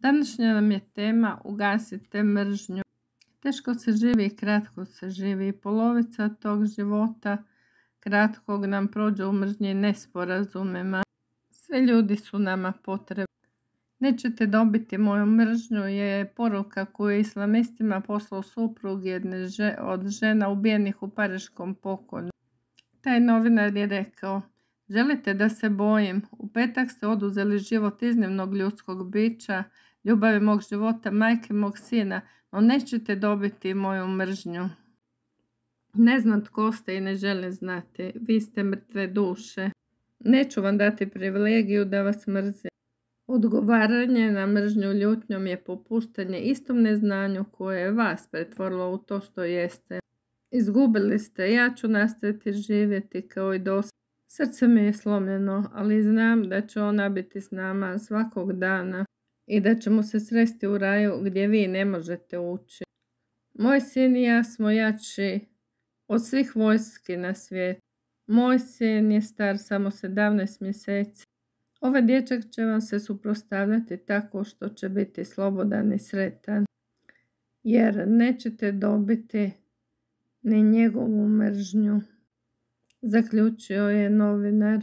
Današnja nam je tema ugasite mržnju. Teško se živi i kratko se živi. Polovica tog života kratkog nam prođe u mržnji i nesporazumima. Sve ljudi su nama potrebni. Nećete dobiti moju mržnju je poruka koju je islamistima poslao suprug jedne od žena ubijenih u pariškom pokolju. Taj novinar je rekao: želite da se bojim? U petak ste oduzeli život iznimnog ljudskog bića, ljubavi mog života, majke mog sina, no nećete dobiti moju mržnju. Ne znam tko ste i ne želim znati. Vi ste mrtve duše. Neću vam dati privilegiju da vas mrzim. Odgovaranje na mržnju ljutnjom je popuštanje istom neznanju koje je vas pretvorilo u to što jeste. Izgubili ste, ja ću nastaviti živjeti kao i dosad. Srce mi je slomljeno, ali znam da će ona biti s nama svakog dana i da ćemo se sresti u raju gdje vi ne možete ući. Moj sin i ja smo jači od svih vojski na svijetu. Moj sin je star samo 17 mjeseci. Ovaj dječak će vam se suprotstavljati tako što će biti slobodan i sretan, jer nećete dobiti ni njegovu mržnju, zaključio je novinar.